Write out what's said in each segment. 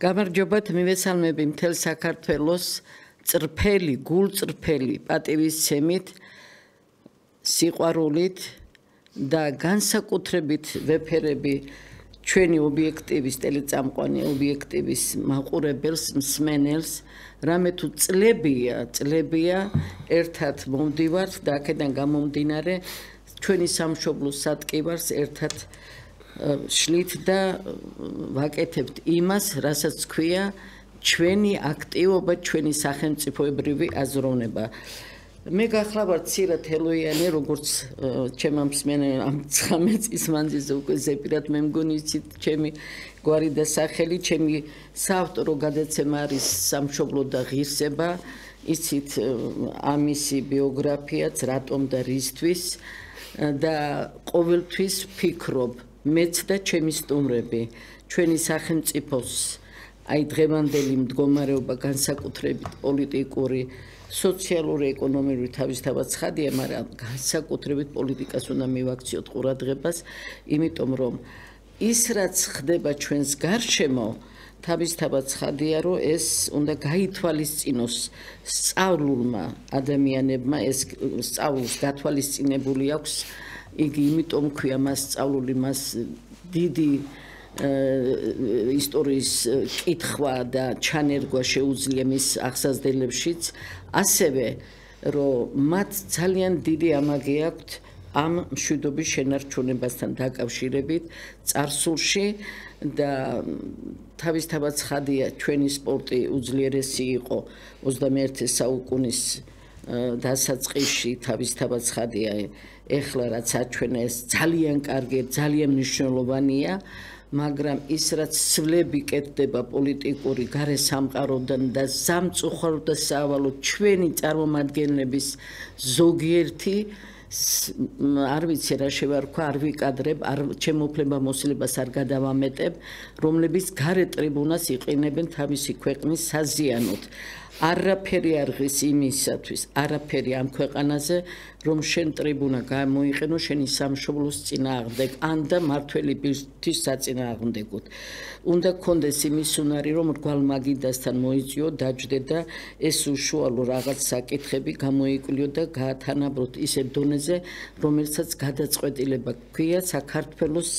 გამარჯობათ მივესალმები მთელ საქართველოს წრფელი, გულწრფელი პატივისცემით, სიყვარულით და განსაკუთრებით ვეფერები ჩვენი ობიექტივის ტელეწამყვანი ობიექტივის მაყურებელს, მსმენელს, რამე თუ წლებია ერთად მომდივართ და აქედან გამომდინარე ჩვენი სამშობლოს სატკივარს ერთად შლით და ვაკეთებთ იმას, რასაც ქვია ჩვენი აქტივობა, ჩვენი სახელმწიფოებრივი აზროვნება. მე გახლავართ ცირად ელოიანი, როგორც ჩემმა მსმენელმა ამ 19 წლის მანძილზე უკვე ზეპირად მე მგონი იცით ჩემი გვარი და სახელი, ჩემი საავტორო გადაცემა არის სამშობლო და ღირსება, იცით ამისი ბიოგრაფიაც, რატომ და რისთვის და ყოველთვის ვფიქრობ მეც და ჩემი სტუმრები ჩვენი სახელმწიფოს აი დღევანდელი მდგომარეობა განსაკუთრებით პოლიტიკური, სოციალური, ეკონომიკური თავისთავად ცხადია, მაგრამ განსაკუთრებით პოლიტიკას უნდა მივაქციოთ ყურადღებას, იმიტომ რომ ის რაც ხდება ჩვენს გარშემო, თავისთავად ცხადია, რომ ეს უნდა გაითვალისწინოს სწავლულმა ადამიანებმა, ეს სწავლულს გათვალისწინებული აქვს იგი იმიტომ ქვია მას სწავლული, მას დიდი ისტორიის კითხვა და ჩანერგვა შეუძლია მის აღსაზრდებებშიც, ასევე რომ მათ ძალიან დიდი ამაგი აქვთ ამ მშვიდობის შენარჩუნებასთან დაკავშირებით წარსულში და თავისთავად ცხადია ჩვენი სპორტი უძლიერესი იყო 21 საუკუნის დასაწყისში, თავისთავად ცხადია ეხლა რაც აჩვენა ეს ძალიან კარგი, ძალიან მნიშვნელოვანია, მაგრამ ის რაც სვლები კეთდება პოლიტიკური გარე სამყაროდან და სამწუხაროდ და სავალოდ ჩვენი წარმომადგენლების ზოგიერთი არ ვიცი რა შევარქვა, არ ვიკადრებ, ჩემოფლება მოსლებას არ გადავამეტებ, რომლებიც გარე ტრიბუნას იყენებენ თავისი ქვეყნის საზიანოდ. არაფერი არ ღირს იმისათვის, არაფერი ამ ქვეყანაზე, რომ შენ ტრიბუნა გამოიყენო შენი სამშობლოს წინააღმდეგ, ან და მართველი ბირთვის საწინააღმდეგოდ. უნდა გქონდეს იმის უნარი, რომ რგვალ მაგიდასთან მოიწიო, დაჯდე და ეს უშუალო რაღაც საკითხები გამოიკვლიო და გაათანაბროთ ისეთ დონეზე, რომელსაც გადაწყვეტილება გვია საქართველოს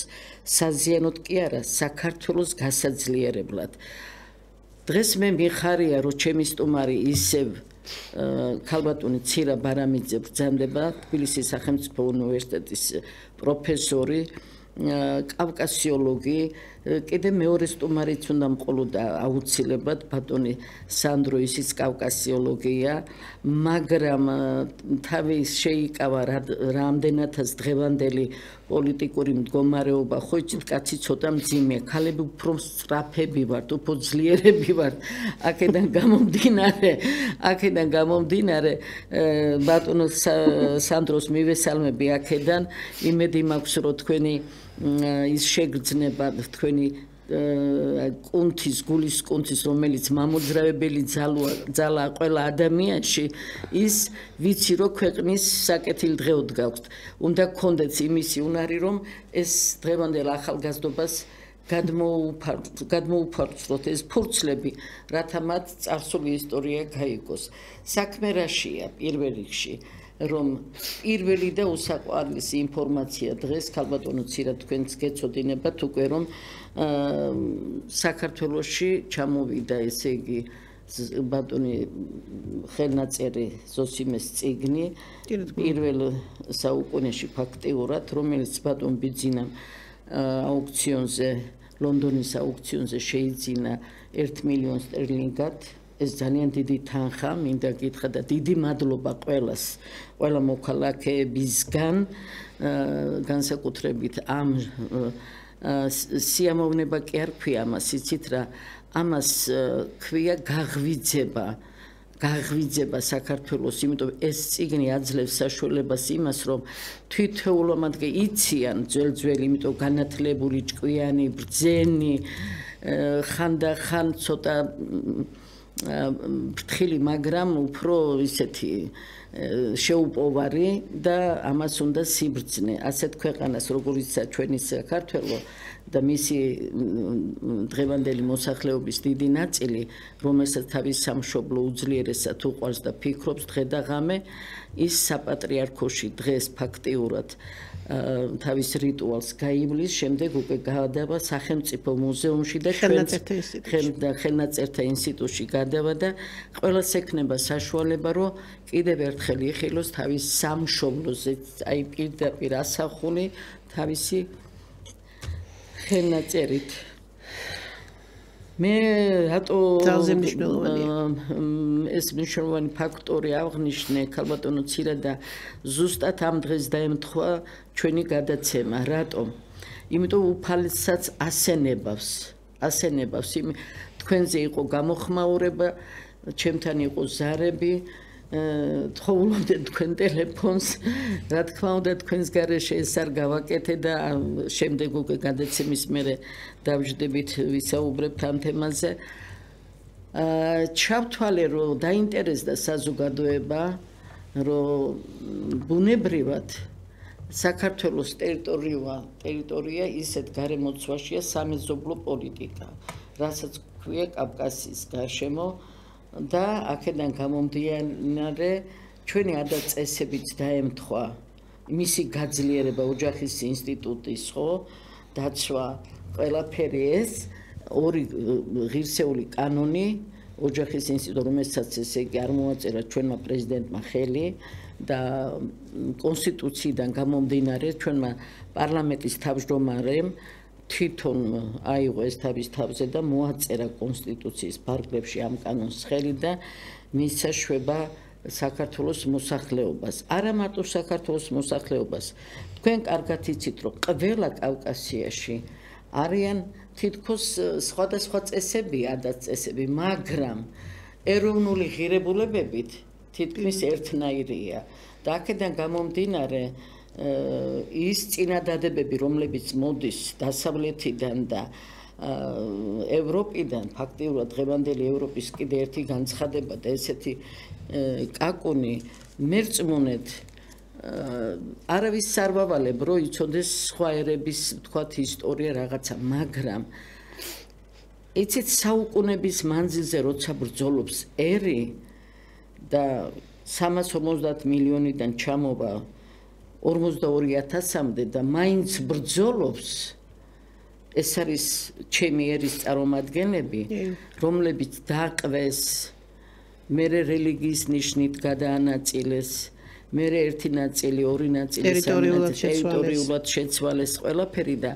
საზიანოდ კი არა, საქართველოს გასაძლიერებლად. დღეს მე მიხარია, რომ ჩემი სტუმარი ისევ ქალბატონი ცირა ბარამიძე ბრძანდება, თბილისის სახელმწიფო უნივერსიტეტის პროფესორი, კავკასიოლოგი, კიდე მეორე სტუმარიც უნდა მყოლოდა აუცილებლად ბატონი სანდრო, ისიც კავკასიოლოგია, მაგრამ თავი შეიკავა რამდენადაც დღევანდელი პოლიტიკური მდგომარეობა, ხო იცით, კაცი ცოტა მძიმეა, ქალები უფრო სწრაფები ვართ, უფრო ძლიერები ვართ, აქედან გამომდინარე ბატონო სანდროს მივესალმები აქედან, იმედი მაქვს, რომ თქვენი ის შეგრძნება თქვენი კუნთის, გულის კუნთის, რომელიც მამოძრავებელი ძალაა ყველა ადამიანში, ის ვიცი, რომ ქვეყნის საკეთილდღეოდ გაქვთ. უნდა გქონდეთ იმისი უნარი, რომ ეს დღევანდელ ახალგაზრდობას გადმოუფარდეთ ეს ფურცლები, რათა მათ წარსული ისტორია გაიგოს. საქმე რაშია პირველ რიგში, რომ პირველი და უსაყვარლესი ინფორმაცია დღეს ქალბატონო ცირად თქვენც გეცოდინებათ უკვე რომ საქართველოში ჩამოვიდა ესე იგი ბატონი ხელნაწერი ზოსიმეს წიგნი პირველ საუკუნეში ფაქტიურად, რომელიც ბატონ ბიძინამ აუქციონზე, ლონდონის აუქციონზე შეიძინა 1 მილიონ სტერლინგად. ეს ძალიან დიდი თანხა, მინდა გითხრა და დიდი მადლობა ყველა მოქალაქეებისგან, განსაკუთრებით ამ სიამოვნება კი არ ქვია ამას, იცით რა, ამას ქვია გაღვიძება საქართველოს, იმიტომ ეს წიგნი აძლევს საშუალებას იმას, რომ თითოეულამდე იციან ძველი, იმიტომ განათლებული, ჭკვიანი, ბრძენი, ხანდახან ცოტა ფრთხილი, მაგრამ უფრო ისეთი შეუპოვარი და ამას უნდა სიბრძნე. ასეთ ქვეყანას, როგორიცაა ჩვენი საქართველო და მისი დღევანდელი მოსახლეობის დიდი ნაწილი, რომელსაც თავის სამშობლო უძლიერესად უყვარს და ფიქრობს დღე და ღამე, ის საპატრიარქოში დღეს ფაქტიურად თავის რიტუალს გაივლის, შემდეგ უკვე გადავა სახელმწიფო მუზეუმში და ხელნაწერთა ინსტიტუტში გადავა და ყველას ექნება საშუალება, რომ კიდევ ერთხელ იხილოს თავის სამშობლოზე, აი პირდაპირ ასახული თავისი ხელნაწერით. მე რატო ეს მნიშვნელოვანი ფაქტორი აღნიშნე ქალბატონო ცირა და ზუსტად ამ დღეს დაემთხვა ჩვენი გადაცემა. რატომ? იმიტომ უფალსაც ასენებავს. თქვენზე იყო გამოხმაურება, ჩემთან იყო ზარები, თხოვლობდე თქვენ ტელეფონს, რა თქმა უნდა თქვენს გარეშე ეს არ გავაკეთე და შემდეგ უკვე გადაცემის მერე დავждებით ვისაუბრებთ ამ თემაზე. ჩავთვალე, რომ დაინტერესდა საზოგადოება, რომ ბუნებრივად საქართველოს ტერიტორია ისეთ გარემოცვაშია სამეზობლო პოლიტიკა, რასაც ქვია კავკასიის გარშემო და აქედან გამომდინარე ჩვენი ადაწესებით დაემთხვა მისი გაძლიერება ოჯახის ინსტიტუტის დაცვა ყველაფერი ეს ორი ღირსეული კანონი ოჯახის ინსტიტუტი რომელსაც ესე იგი არ მოაწერა ჩვენმა პრეზიდენტმა ხელი და კონსტიტუციიდან გამომდინარე ჩვენმა პარლამენტის თავმჯდომარემ თვითონ აიღო ეს თავის თავზე და მოაწერა კონსტიტუციის ფარგლებში ამ კანონს ხელი და მისცა შვება საქართველოს მოსახლეობას. არა მარტო საქართველოს მოსახლეობას. თქვენ კარგად იცით, რომ ყველა კავკასიაში არიან თითქოს სხვადასხვა წესები, ადაწესები, მაგრამ ეროვნული ღირებულებებით თითქმის ერთნაირია. და აქედან გამომდინარე ის წინადადებები, რომლებიც მოდის დასავლეთიდან და ევროპიდან, ფაქტიურად დღევანდელი ევროპის კიდე ერთი განცხადება და ესეთი კაკუნი მერწმუნედ არავის არ ვავალებ, რომ იცოდეს სხვა ერების, ვთქვათ, ისტორია რაღაცა, მაგრამ იცით საუკუნების მანძილზე როცა ბრძოლობს ერი და 350 მილიონიდან ჩამოვა 42,000-მდე და მაინც ბრძოლობს, ეს არის ჩემი ერის წარმომადგენლები, რომლებიც დააყვეს, მერე რელიგიის ნიშნით გადაანაწილეს, მერე ერთი ნაწილი, ორი ნაწილი ტერიტორიულად შეცვალეს ყველაფერი და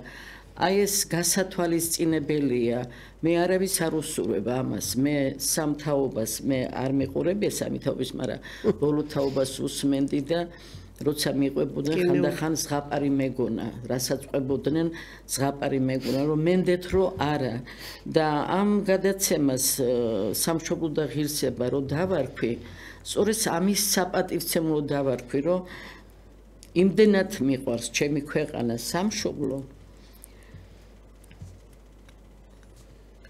აი ეს გასათვალისწინებელია. მე არავის არ უსურვებ ამას, მე სამთაობას მე არ მიყურებია სამთაობის, მაგრამ ბოლო თაობას უსმენდი და როცა მიყვებოდნენ ხანდახან ზღაპარი მეგონა, რასაც ყვებოდნენ ზღაპარი მეგონა, რომ მენდეთ რომ არა და ამ გადაცემას სამშობლო და ღირსება რომ დავარქვი, სწორედ ამის საპატივცემლო დავარქვი, რომ იმდენად მიყვარს ჩემი ქვეყანა სამშობლო,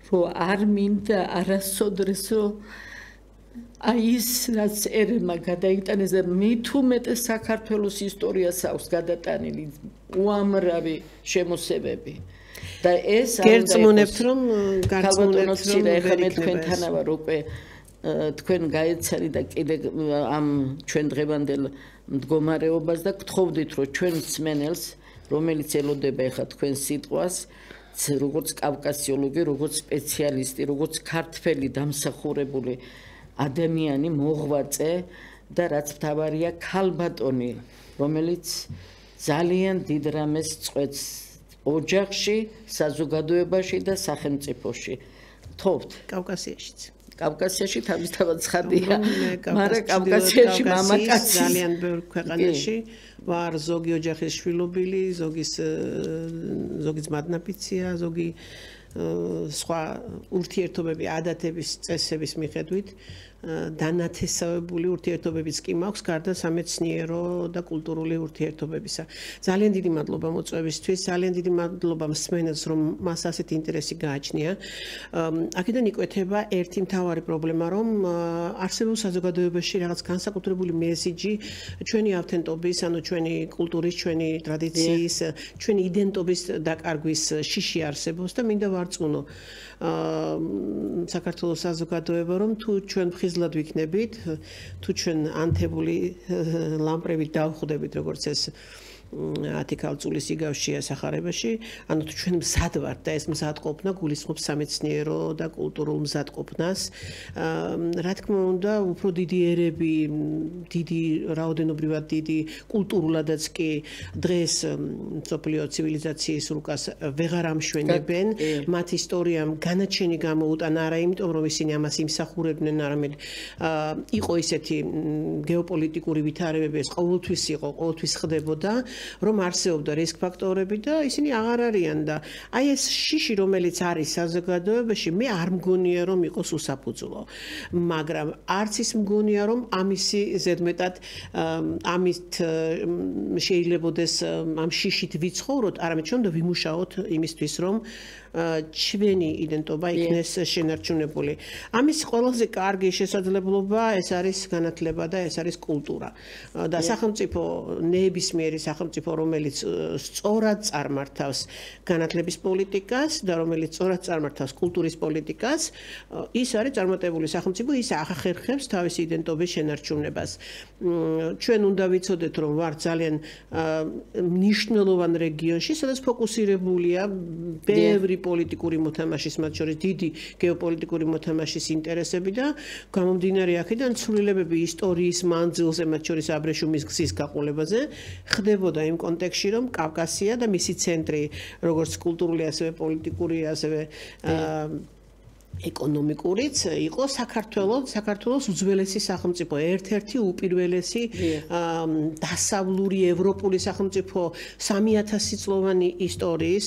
რომ არ მინდა არასოდეს რომ აი ის რაც ერმა გადაიტანეს და მით უმეტეს საქართველოს ისტორიას აქვს გადატანილი უამრავი შემოსევები და ეს გერწმუნებთ რომ გარწმუნებთ რომ მე თქვენთანა ვარ უკვე თქვენ გაეცანი და კიდე ამ ჩვენ დღევანდელ მდგომარეობას და გთხოვდით რომ ჩვენ მსმენელს რომელიც ელოდება ახლა თქვენ სიტყვას როგორც კავკასიოლოგი, როგორც სპეციალისტი, როგორც ქართველი დამსახურებული ადამიანი მოღვაწე და რაც მთავარია ქალბატონი, რომელიც ძალიან დიდ რამეს წყვეტს ოჯახში, საზოგადოებაში და სახელმწიფოში. გთხოვთ. კავკასიაშიც. კავკასიაში თავისთავად ცხადია, მაგრამ კავკასიაში მამაკაცი ძალიან ბევრ ქვეყანაში ვარ ზოგი ოჯახის შვილობილი, ზოგის მადნაფიცია, ზოგი სხვა ურთიერთობები, ადათების, წესების მიხედვით დანათესავებული ურთიერთობებიც კი მაქვს გარდა სამეცნიერო და კულტურული ურთიერთობებისა. ძალიან დიდი მადლობა მოწვევისთვის, ძალიან დიდი მადლობა მსმენელს, რომ მას ასეთი ინტერესი გააჩნია. აქედან იკვეთება ერთი მთავარი პრობლემა, რომ არსებულ საზოგადოებაში რაღაც განსაკუთრებული მესიჯი ჩვენი ავთენტობის, ანუ ჩვენი კულტურის, ჩვენი ტრადიციის, ჩვენი იდენტობის დაკარგვის შიში არსებობს და მინდა ვარწმუნო საქართველოს საზოგადოება, რომ თუ ჩვენ ხიზლად ვიქნებით, თუ ჩვენ ანთებული ლამპრებით დავხვდებით, როგორც ეს 10 ქალწულის იგავშია სახარებაში, ანუ თუ ჩვენ მზად ვართ და ეს მზადყოფნა გულისხმობს სამეცნიერო და კულტურულ მზადყოფნას, რა თქმა უნდა, უფრო დიდი ერები, დიდი რაოდენობრივად დიდი კულტურულადაც კი დღეს მსოფლიო ცივილიზაციის რუკას ვეღარ ამშვენებენ, მათ ისტორიამ განაჩენი გამოუტანა არა იმიტომ, რომ ისინი ამას იმსახურებდნენ, არამედ იყო ისეთი გეოპოლიტიკური ვითარებები, ეს ყოველთვის იყო, ყოველთვის ხდებოდა, რომ არსებობდა რისკ ფაქტორები და ისინი აღარ არიან და აი ეს შიში რომელიც არის საზოგადოებაში მე არ მგონია რომ იყოს უსაფუძვლო მაგრამ არც ის მგონია რომ ამისი ზედმეტად ამით შეიძლებოდეს ამ შიშით ვიცხოვროთ არამედ ჩვენ და ვიმუშაოთ იმისთვის რომ ჩვენი იდენტობა იქნეს შენარჩუნებული. ამის ყველაზე კარგი შესაძლებლობა ეს არის განათლება და ეს არის კულტურა. და სახელმწიფო ნებისმიერი სახელმწიფო რომელიც სწორად წარმართავს განათლების პოლიტიკას და რომელიც სწორად წარმართავს კულტურის პოლიტიკას, ის არის წარმატებული სახელმწიფო, ის ახერხებს თავისი იდენტობის შენარჩუნებას. ჩვენ უნდა ვიცოდეთ რომ ვართ ძალიან მნიშვნელოვან რეგიონში, სადაც ფოკუსირებულია ბევრი პოლიტიკური მოთამაშის, მათ შორის დიდი გეოპოლიტიკური მოთამაშის ინტერესები და გამომდინარე აქედან ცვლილებები ისტორიის მანძილზე, მათ შორის აბრეშუმის გზის გაყოლებაზე, ხდებოდა იმ კონტექსტში, რომ კავკასია და მისი ცენტრი, როგორც კულტურული, ასევე პოლიტიკური, ასევე ეკონომიკურიც იყო საქართველოს უძველესი სახელმწიფო, ერთ-ერთი უპირველესი დასავლური ევროპული სახელმწიფო 3000 წლოვანი ისტორიის.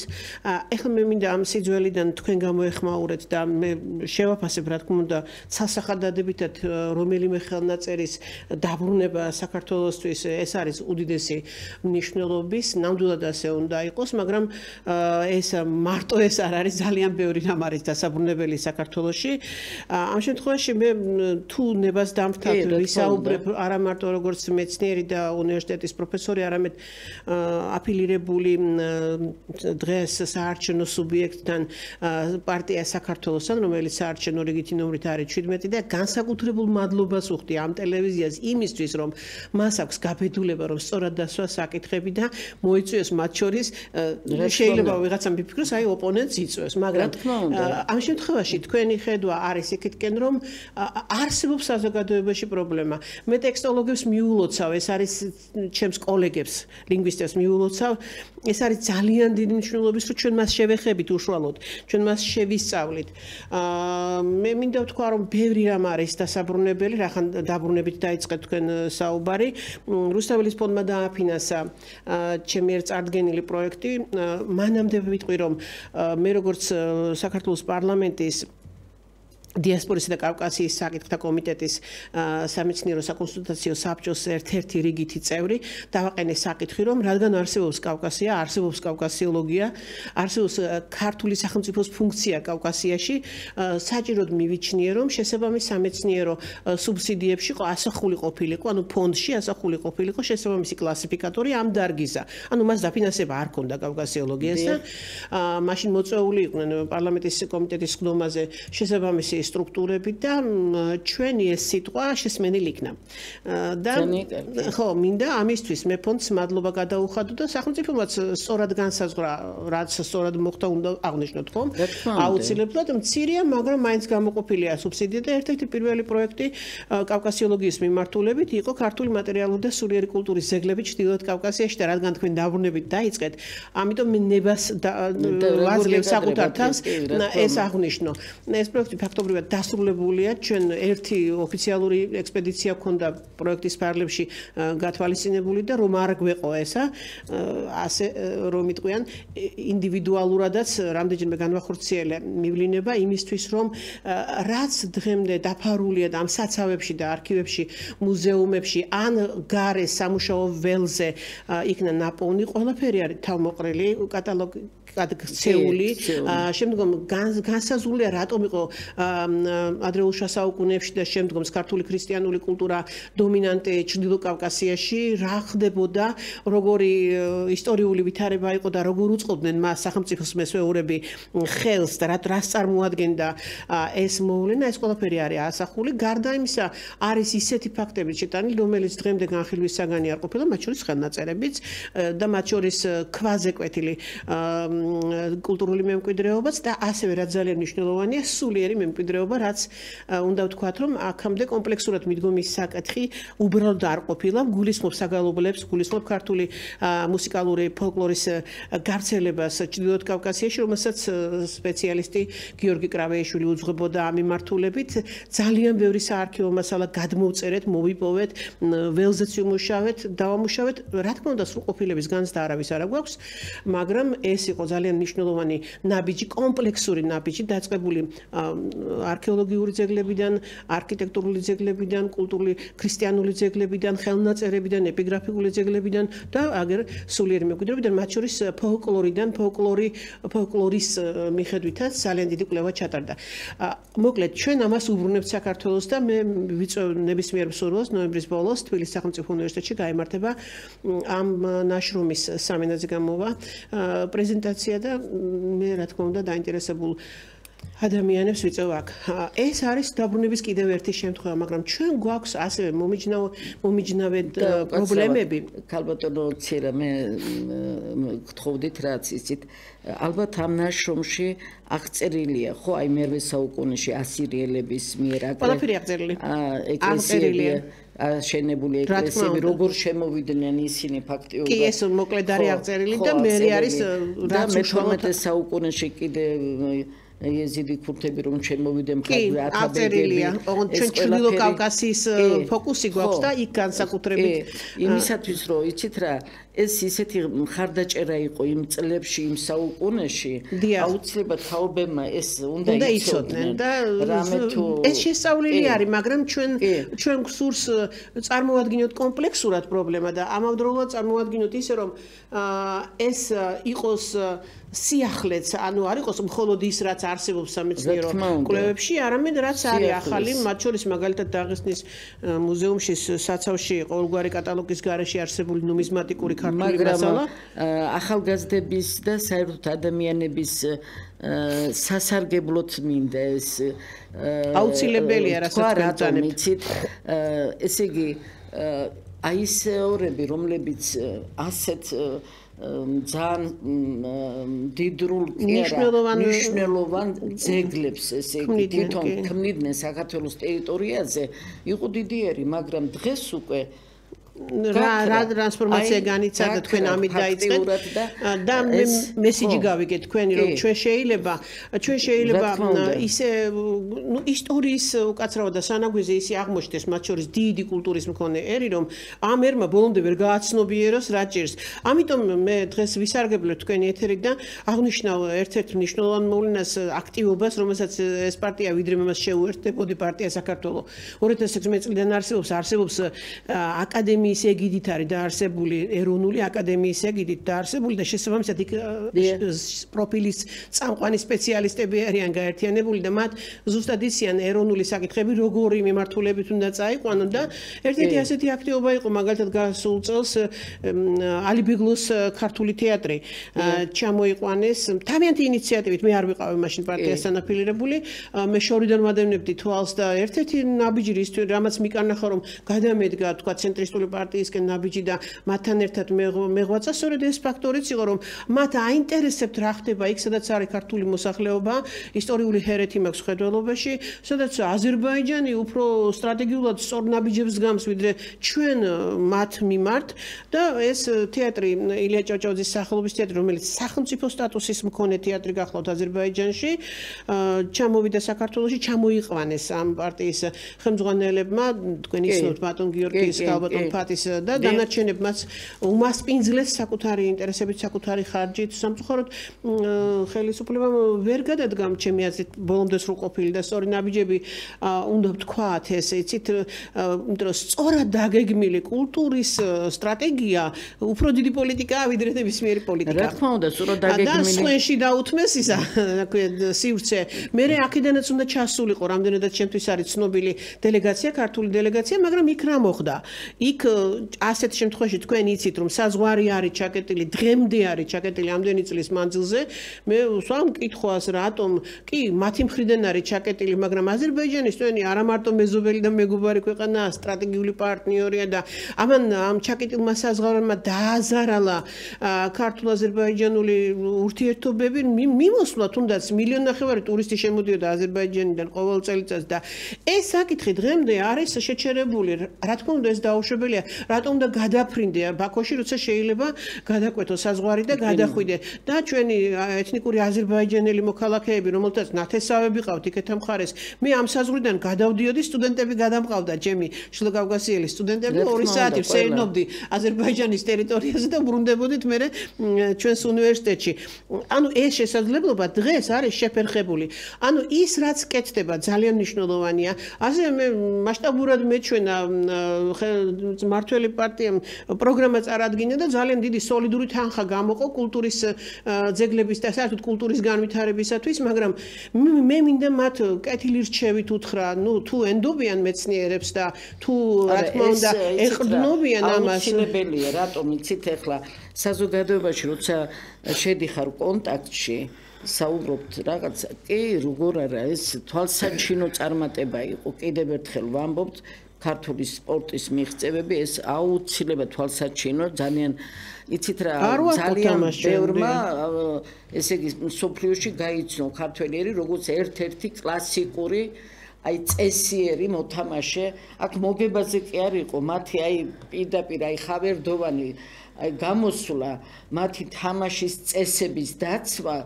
ეხლა მე მინდა ამ სიძველიდან თქვენ გამოეხმაურეთ და მე შევაფასებ, რა თქმა უნდა, ცალსახადადებითად რომელიმე ხელნაწერის დაბრუნება საქართველოსთვის ეს არის უდიდესი მნიშვნელობის, ნამდვილად ასე უნდა იყოს, მაგრამ ეს მარტო ეს არ არის, ძალიან ბევრი რამ არის დასაბრუნებელი საქართველოში. ამ შემთხვევაში მე თუ ნებას დამთავრ ვისაუბრებ არა მარტო როგორც მეცნიერი და უნივერსიტეტის პროფესორი, არამედ აფილირებული დღეს საარჩევნო სუბიექტთან პარტია საქართველოსთან, რომელიც საარჩევნო რიგითი ნომრით არის 17 და განსაკუთრებულ მადლობას ვუხდი ამ ტელევიზიას იმისთვის, რომ მას აქვს გაბედულება, რომ სწორად დასვა საკითხები და მოიწვიოს მათ შორის შეიძლება ვიღაცამ მიფიქროს, აი ოპონენტს იწვევს, მაგრამ ამ შემთხვევაში თქვენი ხედვა არის იქითკენ, რომ არსებობს საზოგადოებაში პრობლემა. მე ტექსტოლოგებს მიულოცავ, ეს არის ჩემს კოლეგებს, ლინგვისტებს მიულოცავ, ეს არის ძალიან დიდი მნიშვნელობის, რომ ჩვენ მას შევეხებით უშუალოდ, ჩვენ მას შევისწავლით. მე მინდა ვთქვა, რომ ბევრი რამ არის დასაბრუნებელი, რახან დაბრუნებით დაიწყეთ თქვენ საუბარი. რუსთაველის ფონდმა დააფინანსა ჩემი ერთ წარდგენილი პროექტი. მანამდე ვიტყვი, რომ მე როგორც საქართველოს პარლამენტის დიასპორისა და კავკასიის საკითხთა კომიტეტის სამეცნიერო საკონსულტაციო საბჭოს ერთ-ერთი რიგითი წევრი დავაყენე საკითხი, რომ რადგან არსებობს კავკასია, არსებობს კავკასიოლოგია, არსებობს ქართული სახელმწიფოს ფუნქცია კავკასიაში, საჭიროდ მივიჩნიე, რომ შესაბამის სამეცნიერო სუბსიდიებში ასახული ყოფილიყო, ანუ ფონდში ასახული ყოფილიყო შესაბამისი კლასიფიკატორი ამ დარგისა. ანუ მას დაფინანსება არ ქონდა კავკასიოლოგიას და მაშინ მოწვეული იყვნენ პარლამენტის კომიტეტის ხდომაზე შესაბამისი სტრუქტურები და ჩვენი ეს სიტყვა შესმენილი იქნა. და ხო, მინდა ამისთვის მე ფონდს მადლობა გადაუხადო და სახელმწიფომაც სწორად განსაზღვრა, რაც სწორად მოხდა, უნდა აღნიშნოთ, ხო? აუცილებლად მცირეა, მაგრამ მაინც გამოყოფილია სუბსიდია და ერთ-ერთი პირველი პროექტი კავკასიოლოგიის მიმართულებით იყო ქართული მატერიალური და სულიერი კულტურის ზეგლები ჩრდილოეთ კავკასიაში და რადგან თქვენ დაბრუნებით დაიწყეთ, ამიტომ მე ნებას ვაძლევ საკუთარ თავს ეს აღნიშნო. ეს პროექტი ფაქტობრივად ფაქტობრივად დასრულებულია. ჩვენ ერთი ოფიციალური ექსპედიცია გქონდა პროექტის ფარგლებში გათვალისწინებული და რომ არ გვეყო ესა, ასე რომ იტყვიან, ინდივიდუალურადაც რამდენჯერმე განვახორციელე მივლინება იმისთვის, რომ რაც დღემდე დაფარულია და ამ საცავებში და არქივებში, მუზეუმებში ან გარე სამუშაო ველზე იქნა ნაპოვნი, ყველაფერი არის თავმოყრილი, კატალოგი გადაქცეული, შემდგომ განსაზღვრულია რატომ იყო ადრეულ შუა საუკუნეებში და შემდგომ ქართული ქრისტიანული კულტურა დომინანტი ჩრდილო კავკასიაში, რა ხდებოდა, როგორი ისტორიული ვითარება იყო და როგორ უწყობდნენ მას სახელმწიფოს მესვეურები ხელს და რას წარმოადგენდა ეს მოვლენა, ეს ყველაფერი არის ასახული. გარდა იმისა, არის ისეთი ფაქტები შეტანილი, რომელიც დღემდე განხილვის საგანი არ ყოფილა, მათ შორის ხელნაწერებიც და მათ შორის ქვაზე კვეთილი კულტურული მემკვიდრეობაც და ასევე რაც ძალიან მნიშვნელოვანია, სულიერი მემკვიდრეობა, რაც უნდა ვთქვათ, რომ აქამდე კომპლექსურად მიდგომის საკითხი უბრალოდ არ ყოფილა, გულისხმობს საგალობლებს, გულისხმობს ქართული მუსიკალური ფოლკლორის გავრცელებას ჩრდილოეთ კავკასიაში, რომელსაც სპეციალისტი გიორგი კრავეიშვილი უძღვებოდა ამ მიმართულებით. ძალიან ბევრი საარქივო მასალა გადმოვწერეთ, მოვიპოვეთ, ველზეც ვიმუშავეთ, დავამუშავეთ. რა თქმა უნდა, სრულყოფილების განცდა არავის არ აქვს, მაგრამ ეს იყო ძალიან მნიშვნელოვანი ნაბიჯი, კომპლექსური ნაბიჯი, დაწყებული არქეოლოგიური ძეგლებიდან, არქიტექტურული ძეგლებიდან, კულტურული ქრისტიანული ძეგლებიდან, ხელნაწერებიდან, ეპიგრაფიკული ძეგლებიდან და აგერ სულიერი მემკვიდრეობიდან, მათ შორის ფოლკლორიდან, ფოლკლორის მიხედვითაც ძალიან დიდი კვლევა ჩატარდა. მოკლედ, ჩვენ ამას უბრუნებთ საქართველოს და მე ვიწევ ნებისმიერ მსურველს ნოემბრის ბოლოს თბილისის სახელმწიფო უნივერსიტეტში გაიმართება ამ ნაშრომის სამინაზე გამოვა პრეზენტაცია და მე რა თქმა უნდა დაინტერესებულ ადამიანებს ვიწევ აქ. ეს არის დაბრუნების კიდევ ერთი შემთხვევა, მაგრამ ჩვენ გვაქვს ასევე მომიჯნავე პრობლემები. ქალბატონო ცირა მე გთხოვდით რაც იცით, ალბათ ამ ნაშრომში აღწერილია, ხო, აი მერვე საუკუნეში ასირიელების მიერ ყველაფერი აღწერილი. ეკლესიები აშენებული ეკლესიები როგორ შემოვიდნენ ისინი ფაქტიურად. კი, ეს მოკლედ არის აღწერილი და მე არის რაც მე-18 საუკუნეში კიდე ეზიდი ქურთები რომ შემოვიდნენ მხარზე ათაბეგები. ჩვენ ჩრდილო კავკასიის ფოკუსი გვაქვს და იქ განსაკუთრებით იმისათვის რომ იცით რა, ეს ისეთი მხარდაჭერა იყო იმ წლებში, იმ საუკუნეში, აუცილებლად თაობებმა ეს უნდა იცოდნენ და ეს შესწავლილი არის, მაგრამ ჩვენ გსურს წარმოვადგინოთ კომპლექსურად პრობლემა და ამავდროულად წარმოვადგინოთ ისე რომ ეს იყოს სიახლეც, ანუ არ იყოს მხოლოდ ის, რაც არსებობს სამეცნიერო კვლევებში, არამედ რაც არის ახალი, მათ შორის მაგალითად დაღესტნის მუზეუმში საცავში ყოველგვარი კატალოგის გარეშე არსებული ნუმიზმატიკური ქართული მასალა, ახალგაზრდების და საერთოდ ადამიანების სასარგებლოდ მინდა ეს აუცილებელია რასაც ვთქვით, ესე იგი აი ეს ორები, რომლებიც ასეთ ძალიან დიდრულ მნიშვნელოვან ძეგლებს ესე იგი თვითონ ქმნიდნენ საქართველოს ტერიტორიაზე, იყო დიდიერი, მაგრამ დღეს უკვე რა ტრანსფორმაცია განიცადა თქვენ ამით დაიწყეთ და მესიჯი გავიგეთ თქვენი რომ ჩვენ შეიძლება ისე ისტორიის უკაცრავად და სანაგვიზე ისე აღმოჩნდეს მათ შორის დიდი კულტურის მქონე ერი რომ ამ ერმა ბოლომდე ვერ გააცნობიეროს რა ჭირს. ამიტომ მე დღეს ვისარგებლებ თქვენი ეთერით და აღნიშნავ ერთ-ერთ მნიშვნელოვან მოვლენას აქტივობას, რომელსაც ეს პარტია ვიდრე მას შეუერთდებოდი პარტია საქართველოს 2016 წლიდან არსებობს აკადემიის ეგიდით არის დაარსებული ეროვნული აკადემიის ეგიდით დაარსებული და შესაბამისად იქ პროფილის წამყვანი სპეციალისტები არიან გაერთიანებული და მათ ზუსტად იციან ეროვნული საკითხები როგორი მიმართულებით უნდა წაიყვანონ და ერთ-ერთი ასეთი აქტივობა იყო მაგალითად გასულ წელს ალიბეგლოს ქართული თეატრი ჩამოიყვანეს თავიანთი ინიციატივით მე არ ვიყავი მაშინ პარტიასთან აფილირებული მე შორიდან ვადევნებდი თვალს და ერთ-ერთი ნაბიჯი რამაც მიკარნახა რომ გადამედგა თქვა ცენტრისტული პარტიისკენ ნაბიჯი და მათთან ერთად მეღვაწა, სწორედ ეს ფაქტორიც იყო, რომ მათ აინტერესებთ რა ხდება იქ, სადაც არის ქართული მოსახლეობა, ისტორიული ჰერეთი მაქვს ხედველობაში, სადაც აზერბაიჯანი უფრო სტრატეგიულად სწორ ნაბიჯებს გამს, ვიდრე ჩვენ მათ მიმართ და ეს თეატრი ილია ჭავჭავაძის სახელობის თეატრი, რომელიც სახელმწიფო სტატუსის მქონე თეატრი გახლავთ აზერბაიჯანში, ჩამოვიდა საქართველოში, ჩამოიყვანეს ამ პარტიის ხელმძღვანელებმა, თქვენ იცნობთ ბატონ გიორგის, ბატონ ფათის და დანარჩენებმაც უმასპინძლეს საკუთარი ინტერესებით, საკუთარი ხარჯით. სამწუხაროდ ხელისუფლებამ ვერ გადადგა ჩემი აზრით ბოლომდე სრულყოფილი და სწორი ნაბიჯები უნდა ვთქვათ ეს, იცით, იმიტომ რომ სწორად დაგეგმილი კულტურის სტრატეგია უფრო დიდი პოლიტიკაა ვიდრე ნებისმიერი პოლიტიკა. რა თქმა უნდა, სწორად დაგეგმილი. და სხვენში დაუთმეს ისა, სივრცე. მე აქედანაც უნდა ჩასულიყო, რამდენადაც ჩემთვის არის ცნობილი დელეგაცია, ქართული დელეგაცია, მაგრამ იქ რა მოხდა? იქ ასეთ შემთხვევაში თქვენ იცით, რომ საზღვარი არის ჩაკეტილი, დღემდე არის ჩაკეტილი ამდენი წლის მანძილზე. მე ვსვამ კითხვას, რატომ? კი, მათი მხრიდან არის ჩაკეტილი, მაგრამ აზერბაიჯანის თქვენი არა მარტო მეზობელი და მეგობარი ქვეყანაა, სტრატეგიული პარტნიორია და ამ ჩაკეტილმა საზღვარმა დააზარალა ქართულ-აზერბაიჯანული ურთიერთობები, მიმოსვლა თუნდაც 1.5 მილიონი ტურისტი შემოდიოდა აზერბაიჯანიდან ყოველ წელიწადს და ეს საკითხი დღემდე არის შეჩერებული. რა თქმა უნდა, ეს დაუშვებელია. რატომ უნდა გადაფრინდე ბაქოში, როცა შეიძლება გადაკვეთო საზღვარი და გადახვიდე და ჩვენი ეთნიკური აზერბაიჯანელი მოქალაქეები, რომელთაც ნათესავები ყავთ იქეთა მხარეს, მე ამ საზღვრიდან გადავდიოდი, სტუდენტები გადამყავდა, ჩემი შილოკავკასიელი სტუდენტები 2 საათი ვსეირნობდი აზერბაიჯანის ტერიტორიაზე და ბრუნდებოდით მე ჩვენს უნივერსიტეტში. ანუ ეს შესაძლებლობა დღეს არის შეფერხებული. ანუ ის რაც კეთდება ძალიან მნიშვნელოვანია. ასე მე მასშტაბურად მეჩვენა მართველი პარტიამ პროგრამა წარადგინა და ძალიან დიდი სოლიდური თანხა გამოყო კულტურის ძეგლების და საერთოდ კულტურის განვითარებისათვის, მაგრამ მე მინდა მათ კეთილი რჩევით უთხრა, თუ ენდობიან მეცნიერებს და თუ რა თქმა უნდა ეყრდნობიან ამას. აუცილებელია, რატომ იცით ახლა საზოგადოებაში როცა შედიხარ კონტაქტში საუბრობთ რაღაცა, კი, როგორ არა, ეს თვალსაჩინო წარმატება იყო. კიდევ ერთხელ ვამბობთ, ქართული სპორტის მიღწევები, ეს აუცილებლად თვალსაჩინო, ძალიან იცით რა, ძალიან ბევრმა, ესე იგი, მსოფლიოში გაიცნო ქართველიერი, როგორც ერთ-ერთი კლასიკური აი წესიერი მოთამაშე. აქ მოგებაზე კი არ იყო, მათი აი პირდაპირ აი ხავერდოვანი აი გამოსვლა, მათი თამაშის წესების დაცვა,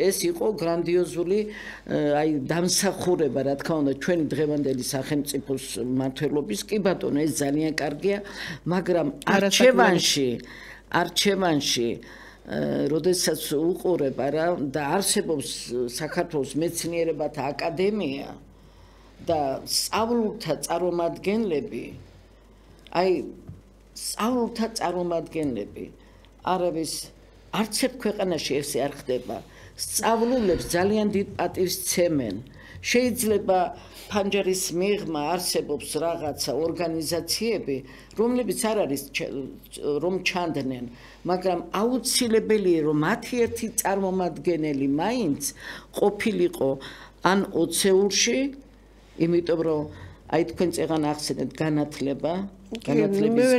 ეს იყო გრანდიოზული აი დამსახურება, რა თქმა უნდა, ჩვენი დღევანდელი სახელმწიფოს მმართველობის. კი ბატონო, ეს ძალიან კარგია, მაგრამ არჩევანში როდესაც უყურებ არა და არსებობს საქართველოს მეცნიერებათა აკადემია და სწავლულთა წარმომადგენლები, აი სწავლულთა წარმომადგენლები არავის არც ერთ ქვეყანაში ესე არ ხდება. სწავლულებს ძალიან დიდ პატივს ცემენ. შეიძლება ფანჯარის მიღმა არსებობს რაღაცა ორგანიზაციები, რომლებიც არ არის რომ ჩანდნენ, მაგრამ აუცილებელია რომ მათი ერთი წარმომადგენელი მაინც ყოფილიყო ან ოცეულში, იმიტომ რომ აი თქვენ წეგან ახსენეთ განათლების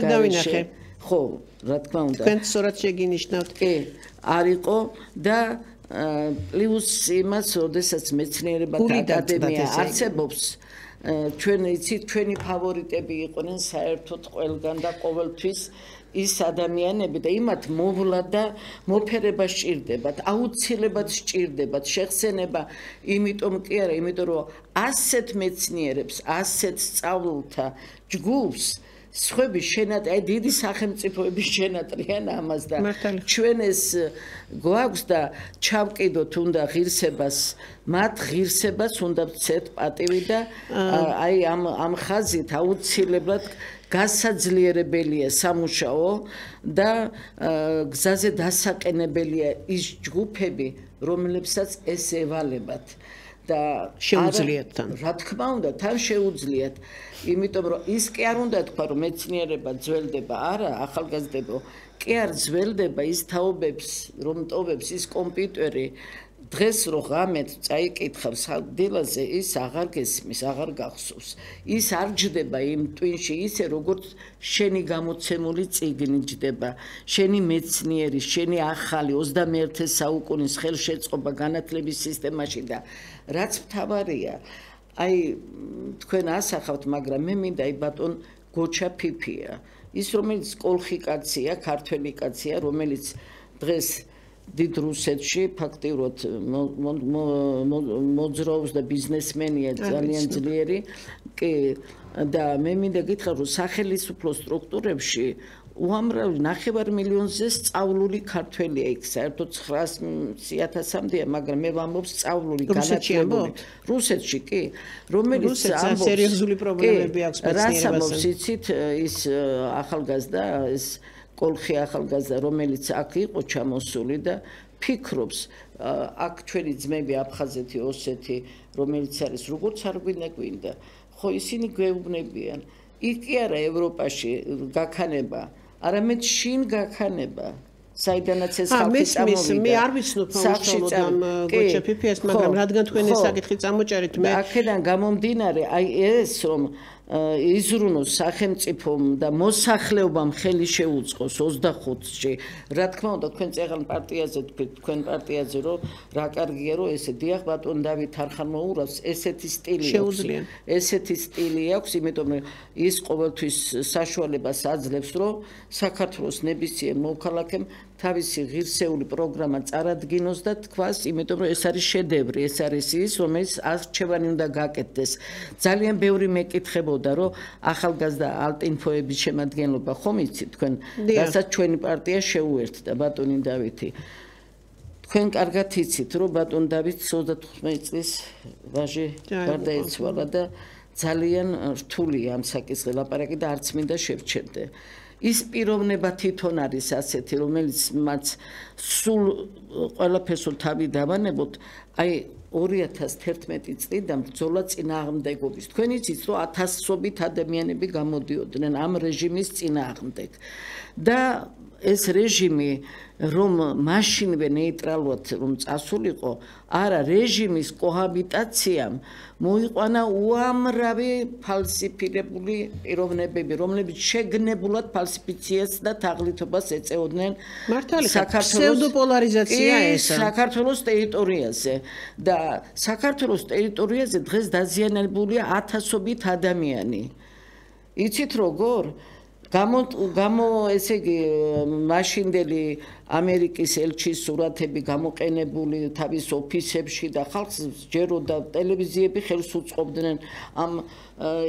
გარეშე, ხო, რა თქმა უნდა. თქვენ სწორად შეგინიშნავთ. კი, არ იყო და პლუს იმას, როდესაც მეცნიერებათა აკადემია არსებობს, ჩვენ იცით, ჩვენი ფავორიტები იყვნენ საერთოდ ყველგან და ყოველთვის ის ადამიანები და იმათ მოვლა და მოფერება სჭირდებათ, აუცილებლად სჭირდებათ შეხსენება, იმიტომ კი არა, იმიტომ რომ ასეთ მეცნიერებს, ასეთ სწავლულთა ჯგუფს სხვები შენატრიან, დიდი სახელმწიფოების შენატრიან ამას და ჩვენ ეს გვაქვს და ჩავკიდოთ უნდა ღირსებას, მათ ღირსებას უნდა ვცეთ პატივი და აი ამ ხაზით აუცილებლად გასაძლიერებელია სამუშაო და გზაზე დასაყენებელია ის ჯგუფები, რომლებსაც ეს ევალებათ. და შეუძლიათ თან. რა თქმა უნდა, თან შეუძლიათ, იმიტომ რომ ის კი არ უნდა თქვა, რომ მეცნიერება ძველდება, არა, ახალგაზრდებო, კი არ ძველდება ის თაობებს, რომ ტოვებს ის კომპიუტერი, დღეს რო ღამეთ წაიკითხავს დილაზე ის აღარ გესმის, აღარ გახსოვს. ის არ ჯდება იმ ტვინში ისე როგორც შენი გამოცემული წიგნი ჯდება, შენი მეცნიერი, შენი ახალი 21 საუკუნის ხელშეწყობა განათლების სისტემაში და რაც მთავარია, აი თქვენ ასახავთ, მაგრამ მე მინდა აი ბატონ გოჩა ფიფია, ის რომელიც კოლხი კაცია, ქართველი კაცია, რომელიც დღეს დიდ რუსეთში ფაქტიურად მოძრაობს და ბიზნესმენია ძალიან ძლიერი კი და მე მინდა გითხრა რომ სახელმწიფო სტრუქტურებში უამრავი 9 მილიონზე სწავლული ქართველია იქ საერთოდ 900,000-მდეა მაგრამ მე ვამბობ სწავლული განათლებული რუსეთში კი რომელიც ამბობს სერიოზული პრობლემები აქვს მეცნიერებასთან იცით ის ახალგაზრდა ეს კოლხი ახალგაზრდა რომელიც აქ იყო ჩამოსული და ფიქრობს აქ ჩვენი ძმები აფხაზეთი ოსეთი რომელიც არის როგორც არ გვინდა ხო ისინი გვეუბნებიან იქ კი არა ევროპაში გაქანება არამედ შინ გაქანება საიდანაც ეს ხალხი წამოვიდა მე არ ვიცნობ უშუალოდ ამ გოჩა ფიფიას მაგრამ რადგან თქვენ ეს საკითხი წამოჭარით მე აქედან გამომდინარე აი ეს რომ იზრუნოს სახელმწიფომ და მოსახლეობამ ხელი შეუწყოს 25-ში. რა თქმა უნდა, თქვენ წეგან პარტიაზე თქვით, თქვენ პარტიაზე რომ რა კარგია რომ ესე დიახ ბატონ დავით არხან მოურავს, ესეთი სტილი აქვს. ესეთი სტილი აქვს, იმიტომ რომ ის ყოველთვის საშუალებას აძლევს, რომ საქართველოს ნებისმიერ მოქალაქემ თავისი ღირსეული პროგრამა წარადგინოს და თქვას, იმიტომ რომ ეს არის შედევრი, ეს არის ის, რომელიც არჩევანი უნდა გაკეთდეს. ძალიან ბევრი მეკითხებოდა, რომ ახალგაზრდა ალტინფოების შემადგენლობა ხომ იცით თქვენ, რასაც ჩვენი პარტია შეუერთდა ბატონი დავითი. თქვენ კარგად იცით, რომ ბატონ დავით 35 წლის ვაჟი გარდაიცვალა და ძალიან რთულია ამ საკითხზე ლაპარაკი და არც მინდა შევჩერდე. ის პიროვნება თვითონ არის ასეთი, რომელიც მათ სულ ყველაფერს თავი დავანებოთ, აი 2011 წლიდან ბრძოლა წინააღმდეგობის. თქვენ იცით, რომ ათასობით ადამიანები გამოდიოდნენ ამ რეჟიმის წინააღმდეგ. და ეს რეჟიმი რომ მაშინვე ნეიტრალურად რომ წასულიყო, არა რეჟიმის კოჰაბიტაციამ მოიყვანა უამრავი ფალსიფიკებული პიროვნებები, რომლებიც შეგნებულად ფალსიფიციას და თაღლითობას ეწეოდნენ ფსევდოპოლარიზაცია ესა საქართველოს ტერიტორიაზე და საქართველოს ტერიტორიაზე დღეს დაზიანებულია ათასობით ადამიანი. იცით როგორ? ესე იგი მაშინდელი ამერიკის ელჩის სურათები გამოყენებული თავის ოფისებში და ხალხს ჯეროდა ტელევიზიები ხელს უწყობდნენ ამ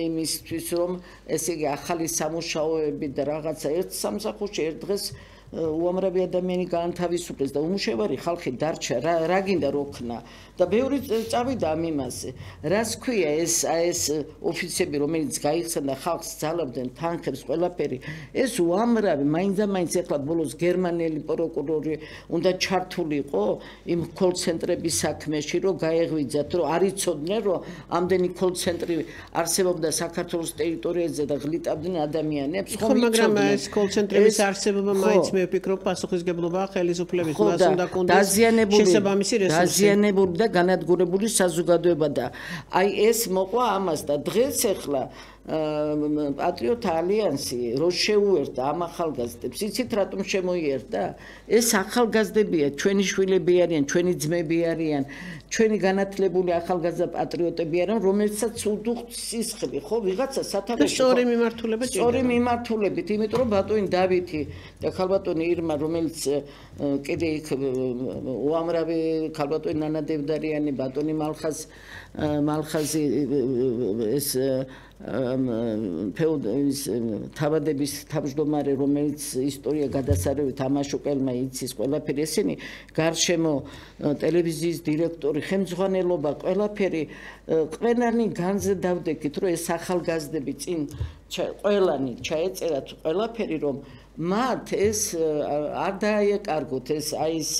იმისთვის რომ ესე იგი ახალი სამუშაოები და რაღაცა ერთ სამსახურში ერთ დღეს უამრავი ადამიანი გაანთავისუფლეს და უმუშევარი ხალხი დარჩა რა გინდა როქნა და ბევრი წავიდა ამ იმაზე რას ქვია ეს ოფიცები რომელიც გაიხსნა და ხალხს ძალავდნენ თანხებს ყველაფერი ეს უამრავი მაინც ეხლა ბოლოს გერმანელი პროკურორი უნდა ჩართულიყო იმ კოლ-ცენტრების საქმეში რომ გაეღვიძათ რომ არ იცოდნენ რომ ამდენი კოლ-ცენტრი არსებობდა საქართველოს ტერიტორიაზე და ღლიტავდნენ ადამიანებს ხო მაგრამ ეს კოლ-ცენტრების არსებობა მაინც მე ვფიქრობ პასუხისგებლობა ხელისუფლების მას უნდა კონდეს შესაბამისი რესურსი დაზიანებული და განადგურებული საზოგადოება და აი ეს მოყვა ამას და დღეს ახლა პატრიოტ ალიანსი რო შეუერთდა ამ ახალგაზრდებს იცით რატომ შემოიერთა ეს ახალგაზრდებია ჩვენი შვილები არიან ჩვენი ძმები არიან ჩვენი განათლებული ახალგაზრდა პატრიოტები არიან რომელსაც უდუხთ სისხლი ხო ვიღაცა სათავეში სწორი მიმართულება ჭირდება სწორი მიმართულებით იმიტომ რომ ბატონი დავითი და ქალბატონი ირმა რომელიც კიდე იქ უამრავი ქალბატონი ნანა დევდარიანი ბატონი მალხაზი ეს ფეოდალის თავადების თავმჯდომარე რომელიც ისტორია გადასარევით ამაშუკელმა იცის ყველაფერი ესენი გარშემო ტელევიზიის დირექტორი ხელმძღვანელობა ყველაფერი ყველანი განზე დავდექით რომ ეს ახალგაზრდები წინ ყველანი ჩაეწერათ ყველაფერი რომ მათ ეს არ დააეკარგოთ ეს აი ეს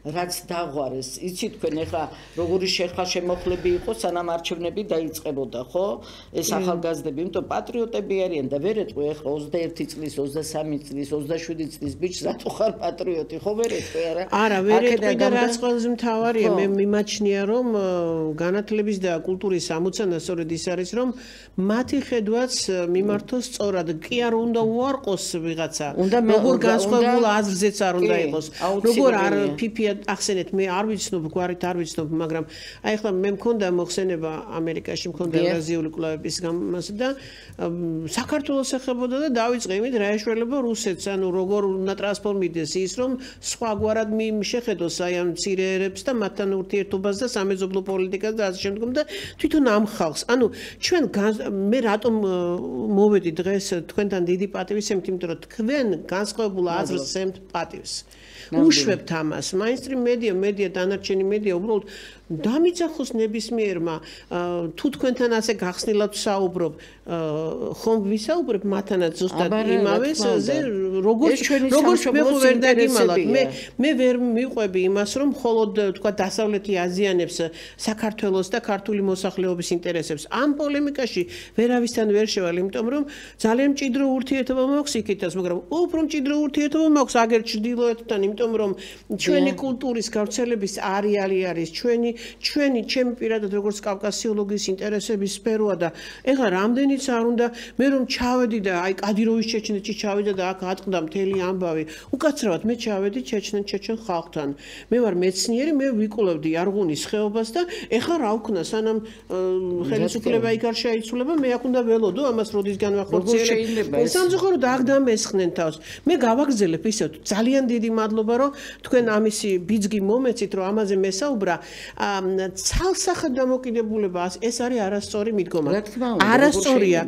რაც დაღვარეს იცი თქვენ ეხლა როგორი შეხლა-შემოხლები იყო სანამ არჩევნები დაიწყებოდა ხო ეს ახალგაზრდები იმიტომ პატრიოტები არიან და ვერ ეტყვი ეხლა 21 წლის 23 წლის 27 წლის ბიჭს რატო ხარ პატრიოტი ხო ვერ ეტყვი არა ვერ ეტყვი და რაც ყველაზე მთავარია მე მიმაჩნია რომ განათლების და კულტურის ამოცანა სწორედ ის არის რომ მათი ხედვაც მიმართოს სწორად კი არ უნდა უარყოს ვიღაცა როგორ განსხვავებულ აზრზეც არ უნდა იყოს როგორ არ ფიფია ახსენეთ მე არ ვიცნობ გვარით არ ვიცნობ მაგრამ აი ახლა მე მქონდა მოხსენება ამერიკაში მქონდა ევრაზიული კვლევების გამოსა და საქართველოს ეხებოდა და დავიწყე იმით რა ეშველება რუსეთს ანუ როგორ უნდა ტრანსფორმირდეს ის რომ სხვაგვარად შეხედოს აი ამ მცირეერებს და მათთან ურთიერთობას და სამეზობლო პოლიტიკას და ასე შემდგომ და თვითონ ამ ხალხს ანუ ჩვენ მე რატომ მოვედი დღეს თქვენთან დიდი პატივისცემით იმიტომ რომ თქვენ განსხვავებულ აზრს ემთ პატივს უშვებთ ამას მაინსტრიმ მედია დანარჩენი მედია უბრალოდ დამიძახოს ნებისმიერმა თუ თქვენთან ასე გახსნილად საუბრობ ხომ ვისაუბრებ მათთანაც ზუსტად იმავეზე როგორც მე ვერ დაგიმალავთ მე ვერ მიყვები იმას რომ მხოლოდ თქვა დასავლეთი აზიანებს საქართველოს და ქართული მოსახლეობის ინტერესებს ამ პოლემიკაში ვერავისთან ვერ შევალ იმიტომ რომ ძალიან მჭიდრო ურთიერთობა მაქვს იქითაც მაგრამ უფრო მჭიდრო ურთიერთობა მაქვს აგერ ჩრდილოეთთან იმიტომ რომ ჩვენი კულტურის გავრცელების არეალი არის ჩვენი ჩემი პირადად როგორც კავკასიოლოგის ინტერესების სფეროა და ეხლა რამდენიც არ უნდა მე რომ ჩავედი და აი კადიროვის ჩეჩნეთში ჩავედი და აქ ატყდა მთელი ამბავი უკაცრავად მე ჩავედი ჩეჩენ ხალხთან მე ვარ მეცნიერი მე ვიკვლევდი არღუნის ხეობას და ეხლა რა ვქნა სანამ ხელისუფლება იქ არ შეიცვლება მე აქ უნდა ველოდო ამას როდის განვახორციელებ სამწუხაროდ აქ დამესხნენ თავს მე გავაგზელებ ისევ ძალიან დიდი მადლობა რომ თქვენ ამისი ბიძგი მომეცით რომ ამაზე მესაუბრა ცალსახად დამოკიდებულება ეს არის არასწორი მიდგომა არასწორია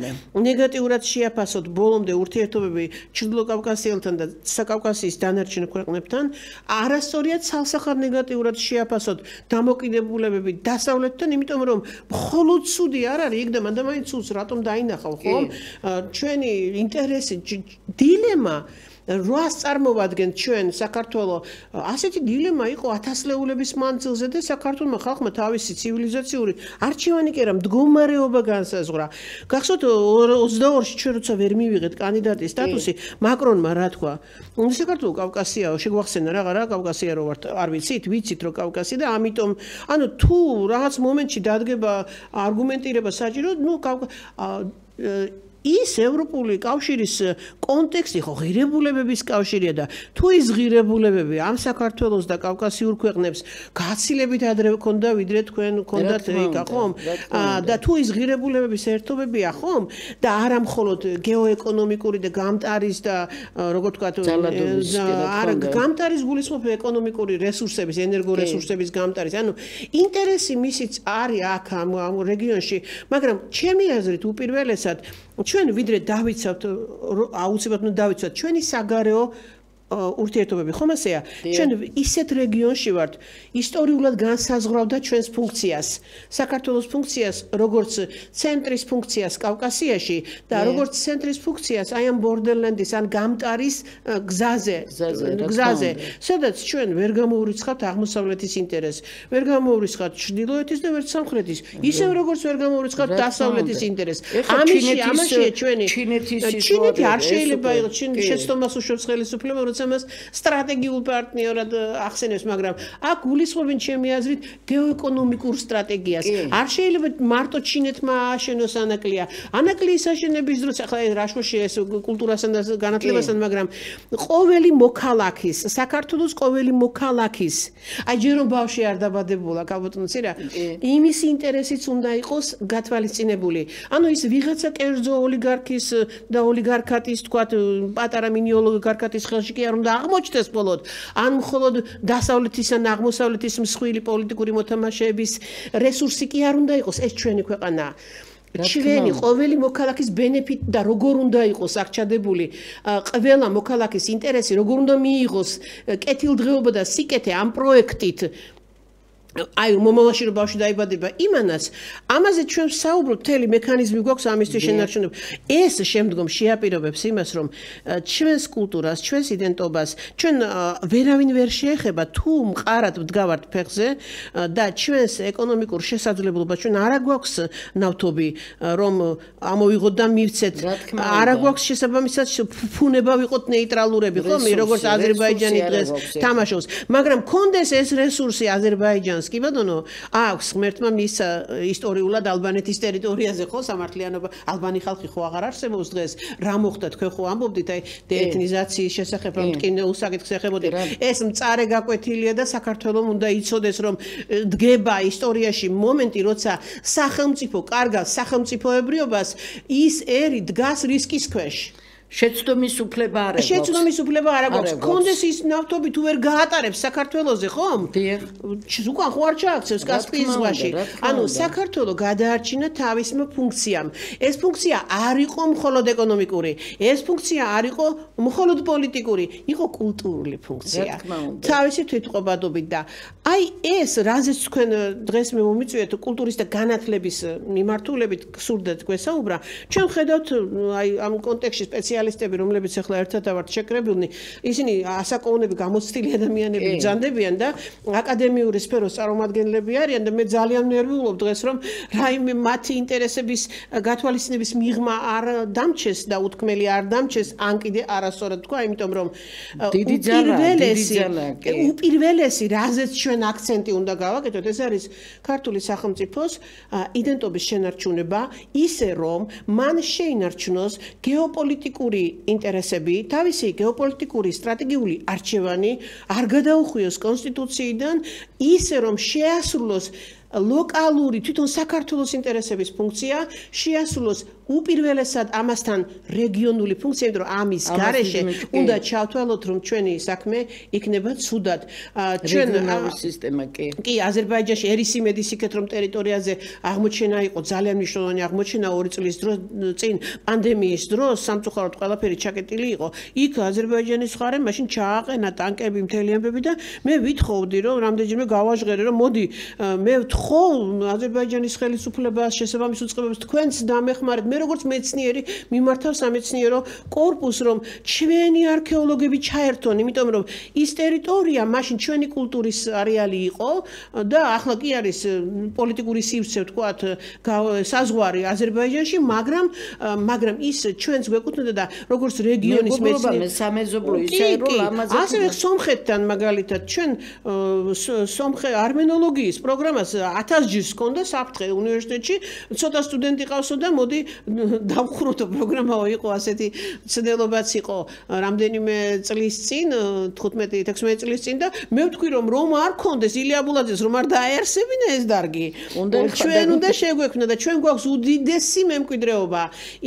ნეგატიურად შეაფასოთ ბოლომდე ურთიერთობები ჩრდილოკავკასიელთან და საკავკასიის დანარჩენ ქვეყნებთან არასწორია ცალსახად ნეგატიურად შეაფასოთ დამოკიდებულებები დასავლეთთან იმიტომ რომ მხოლოდ ცუდი არ არის იქ და მანდამაინც ცუდს რატომ დაინახავ ხო ჩვენი ინტერესი დილემა რას წარმოვადგენთ ჩვენ საქართველოს ასეთი დილემა იყო 1000 ლეულების მანძილზე და საქართველოს ხალხმა თავისი ცივილიზაციური არჩევანი კი არა მდგომარეობა განსაზღვრა გახსოვთ 22-ში ჩვენ როცა ვერ მივიღეთ კანდიდატის სტატუსი მაკრონმა რა თქვა საქართველოს კავკასიაო შეგვახსენა რა კავკასია რო ვართ არ ვიცით რომ კავკასია და ამიტომ ანუ თუ რაღაც მომენტში დადგება არგუმენტირება საჭირო ის ევროპული კავშირის კონტექსტი ხო ღირებულებების კავშირია და თუ ის ღირებულებები ამ საქართველოს და კავკასიურ ქვეყნებს გაცილებით ადრე ქონდა ვიდრე თქვენ ქონდათ იქა ხომ და თუ ის ღირებულებების ერთობებია ხომ და არა მხოლოდ გეოეკონომიკური და გამტარის და როგორ თქვა არა გამტარის გულისხმობ ეკონომიკური რესურსების ენერგორესურსების გამტარის ანუ ინტერესი მისიც არის აქ ამ რეგიონში მაგრამ ჩემი აზრით უპირველესად ჩვენ ვიდრე დავიცავთ აუცილებლად უნდა დავიცავთ ჩვენი საგარეო ურთიერთობები ხომ ასეა ჩვენ ისეთ რეგიონში ვართ ისტორიულად განსაზღვრავდა ჩვენს ფუნქციას საქართველოს ფუნქციას როგორც ცენტრის ფუნქციას კავკასიაში და როგორც ცენტრის ფუნქციას აი ამ ბორდერლენდის ან გამტარის გზაზე სადაც ჩვენ ვერ გამოურიცხავთ აღმოსავლეთის ინტერესს ვერ გამოურიცხავთ ჩრდილოეთის და ვერ სამხრეთის ისევ როგორც ვერ გამოურიცხავთ დასავლეთის ინტერესს ამაშია ჩვენი ჩინეთი არ შეიძლება იყოს შეცდომას უშობს ხელისუფლება ამას სტრატეგიულ პარტნიორად ახსენებს, მაგრამ აქ გულისხმობენ ჩემი აზრით გეოეკონომიკურ სტრატეგიას. არ შეიძლება მარტო ჩინეთმა ააშენოს ანაკლია. ანაკლიის აშენების დროს ახლა რაშოში ეს კულტურასთან და განათლებასთან, მაგრამ ყოველი მოქალაქის, საქართველოს ყოველი მოქალაქის, აი ჯერ რომ ბავშვი არ დაბადებულა, კაბოტონცი რა, იმის ინტერესიც უნდა იყოს გათვალისწინებული. ანუ ის ვიღაცა კერძო ოლიგარქის და ოლიგარქატის, თქვათ, პატარა მინი ოლიგარქატის ხელში კი არ უნდა აღმოჩნდეს მხოლოდ, ან მხოლოდ დასავლეთის ან აღმოსავლეთის მსხვილი პოლიტიკური მოთამაშეების რესურსი კი არ უნდა იყოს, ეს ჩვენი ქვეყანაა. ჩვენი ყოველი მოქალაქის ბენეფიტ და როგორ უნდა იყოს აქ ჩადებული ყველა მოქალაქის ინტერესი, როგორ უნდა მიიღოს კეთილდღეობა და სიკეთე ამ პროექტით. აი მომავალში რომ ბავშვი დაიბადება იმანაც ამაზე ჩვენ საუბრობთ მთელი მექანიზმი გვაქვს ამისთვის შენარჩუნება ეს შემდგომ შეაპირობებს იმას რომ ჩვენს კულტურას ჩვენს იდენტობას ჩვენ ვერავინ ვერ შეეხება თუ მყარად ვდგავართ ფეხზე და ჩვენს ეკონომიკურ შესაძლებლობას ჩვენ არა გვაქვს ნავთობი რომ ამოვიღოთ და მივცეთ არა გვაქვს შესაბამისად ფუნება ვიყოთ ნეიტრალურები ხო მე როგორც აზერბაიჯანი დღეს თამაშობს მაგრამ კონდეს ეს რესურსი აზერბაიჯანს კი ბატონო აქვს ღმერთმა მის ისტორიულად ალბანეთის ტერიტორიაზე ხო სამართლიანობა ალბანი ხალხი ხო აღარ არსებობს დღეს რა მოხდა თქვენ ხო ამბობდით აი დეეთნიზაციის შესახებ რომ ტკინე უსაკითხს ეხებოდით ეს მწარე გაკვეთილია და საქართველოს უნდა იცოდეს რომ დგება ისტორიაში მომენტი როცა სახელმწიფო კარგავს სახელმწიფოებრიობას ის ერი დგას რისკის ქვეშ შეცდომის უფლება არ აქვს. შეცდომის უფლება არ აქვს. კონდეს ის ნავთობი თუ ვერ გაატარებს საქართველოზე, ხომ? დიახ. უკან ხო არ ჩააქცევს კასპიის ზღვაში. ანუ საქართველო გადაარჩინა თავისმა ფუნქციამ. ეს ფუნქცია არ იყო მხოლოდ ეკონომიკური, ეს ფუნქცია არ იყო მხოლოდ პოლიტიკური, იყო კულტურული ფუნქცია. თავისი თვითყოფადობით და აი ეს რაზეც თქვენ დღეს მე მომიწვიეთ კულტურის და განათლების მიმართულებით გსურდეთ გვესაუბრა. ჩვენ ხედავთ აი ამ კონტექსტში სპეციალისტები, რომლებიც ახლა ერთად ავართ შეკრებილნი, ისინი ასაკოვნები გამოცდილი ადამიანები ბრძანდებიან და აკადემიური სფეროს წარმომადგენლები არიან და მე ძალიან ნერვიულობ დღეს რომ რაიმე მათი ინტერესების გათვალისწინების მიღმა არ დამჩეს და უთქმელი არ დამჩეს, ან კიდე არასწორად თქვა, იმიტომ რომ უპირველესი რაზეც ჩვენ აქცენტი უნდა გავაკეთოთ, ეს არის ქართული სახელმწიფოს იდენტობის შენარჩუნება, ისე რომ მან შეინარჩუნოს გეოპოლიტიკური ინტერესები, თავისი გეოპოლიტიკური სტრატეგიული არჩევანი არ გადაუხვიოს კონსტიტუციიდან, ისე რომ შეასრულოს ლოკალური თვითონ საქართველოს ინტერესების ფუნქცია, შეასრულოს უპირველესად ამასთან რეგიონული ფუნქცია, იმიტომ რომ ამის გარეშე უნდა ჩავთვალოთ, რომ ჩვენი საქმე იქნება ცუდად. ჩვენ სისტემა კი, აზერბაიჯანში ერისიმედის იქეთ რომ ტერიტორიაზე აღმოჩენა იყო ძალიან მნიშვნელოვანი აღმოჩენა 2 წლის წინ პანდემიის დროს სამწუხაროდ ყველაფერი ჩაკეტილი იყო. იქ აზერბაიჯანის მხარე მაშინ ჩააყენა ტანკები მთელი ამბები და მე ვითხოვდი რომ რამდენჯერმე გავაჟღერე რომ მოდი მე ხო აზერბაიჯანის ხელისუფლებას შესაბამის უწყებებს თქვენც დამეხმარეთ მე როგორც მეცნიერი მიმართავ სამეცნიერო კორპუსს რომ ჩვენი არქეოლოგები ჩაერთონ იმიტომ რომ ის ტერიტორია მაშინ ჩვენი კულტურის არეალი იყო და ახლა კი არის პოლიტიკური სივრცე ვთქვათ საზღვარი აზერბაიჯანში მაგრამ ის ჩვენს გვეკუთვნოდა და როგორც რეგიონის მეცნიერი სამეზობლო ისე რომ ამაზე ასევე სომხეთთან მაგალითად ჩვენ არმენოლოგიის პროგრამას 1000 ჯერს ჰქონდა საფრთხე უნივერსიტეტში ცოტა სტუდენტი ყავსო და მოდი დავხრუთო პროგრამაო იყო ასეთი ცდილობაც იყო რამდენიმე წლის წინ 15-16 წლის წინ და მე ვთქვი რომ არ ქონდეს ილია აბულაძეს რომ არ დააერსებინა ეს დარგი ჩვენ უნდა შეგვექმნა და ჩვენ გვაქვს უდიდესი მემკვიდრეობა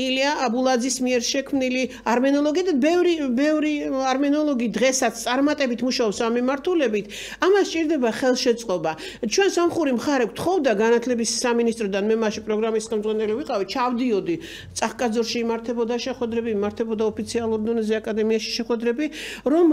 ილია აბულაძის მიერ შექმნილი არმენოლოგი და ბევრი არმენოლოგი დღესაც წარმატებით მუშაობს ამ მიმართულებით ამას სჭირდება ხელშეწყობა ჩვენ სამხური მხარე გთხოვდა განათლების სამინისტროდან მე მაშინ პროგრამის ხელმძღვანელი ვიყავი ჩავდიოდი წახკაძორში იმართებოდა შეხვედრები იმართებოდა ოფიციალურ დონეზე აკადემიაში შეხვედრები რომ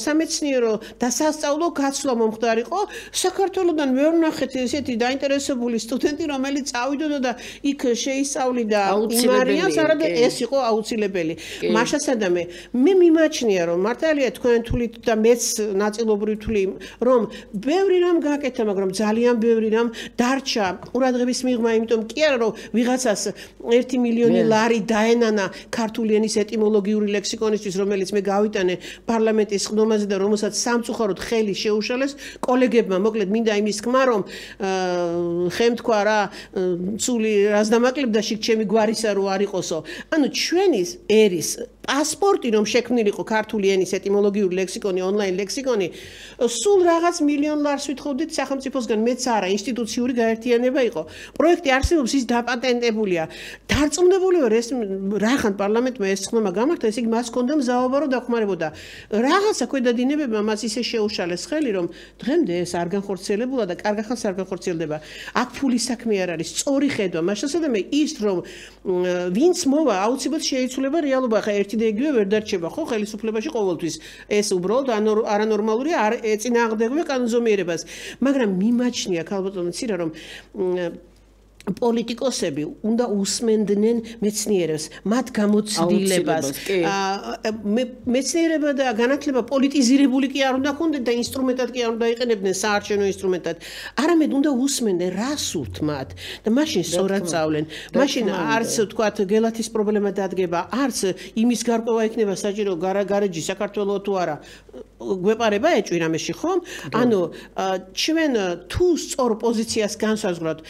სამეცნიერო და სასწავლო გაცვლა მომხდარიყო საქართველოსდან ვერ ვნახეთ ესეთი დაინტერესებული სტუდენტი რომელიც წავიდოდა და იქ შეისწავლიდა იმარიანს არადა ეს იყო აუცილებელი მაშასადამე მე მიმაჩნია რომ მართალია თქვენ თვლით და მეც ნაწილობრივ თვლი რომ ბევრი რამ გააკეთა მაგრამ ძალიან ბევრი რამ დარჩა ყურადღების მიღმა იმიტომ კი არა რომ ვიღაცას 1 მილიონი ლარი დაენანა ქართული ენის ეტიმოლოგიური ლექსიკონისთვის რომელიც მე გავიტანე პარლამენტის ხდომაზე და რომელსაც სამწუხაროდ ხელი შეუშალეს კოლეგებმა მოკლედ მინდა იმის თქმა რომ ხემთქვა რა ცული რას დამაკლებდა შიგ ჩემი გვარისა რო არ იყოსო ანუ ჩვენი ერის პასპორტი რომ შექმნილიყო ქართული ენის ეტიმოლოგიური ლექსიკონი ონლაინ ლექსიკონი სულ რაღაც მილიონ ლარს ვითხოვდით სახელმწიფოსგან მეც არა ინსტიტუციური გაერთიანება იყო პროექტი არსებობს ის დაპატენტებულია დარწმუნებული ვარ ეს რახან პარლამენტმა ეს ხმა გამართა ესე იგი მას ჰქონდა მზაობა რომ დახმარებოდა რაღაცა ქვედადინებებმა მას ისე შეუშალეს ხელი რომ დღემდე ეს არ განხორციელებულა და კარგ ახალს არ განხორციელდება აქ ფულის საქმე არ არის სწორი ხედვა მაშასადამე ის რომ ვინც მოვა აუცილებლად შეიცვლება რეალობა ხა ერთი ერთი და იგივე ვერ დარჩება ხო ხელისუფლებაში ყოველთვის. ეს უბრალოდ არანორმალურია, არ ეწინააღმდეგება კანონზომიერებას. მაგრამ მიმაჩნია ქალბატონო ცირა რომ პოლიტიკოსები უნდა უსმენდნენ მეცნიერებს, მათ გამოცდილებას. მეცნიერება და განათლება პოლიტიზირებული კი არ უნდა ქონდეს და ინსტრუმენტად კი არ უნდა იყენებდნენ საარჩევნო ინსტრუმენტად. არამედ უნდა უსმენდნენ რა სურთ მათ და მაშინ სწორად სწავლენ. მაშინ არც თქვათ გელათის პრობლემა დადგება, არც იმის გარკვევა იქნება საჭირო გარეჯი საქართველოს თუ არა. გვეპარება ეჭვი რამეში ხომ? ანუ ჩვენ თუ სწორ პოზიციას განსაზღვრავთ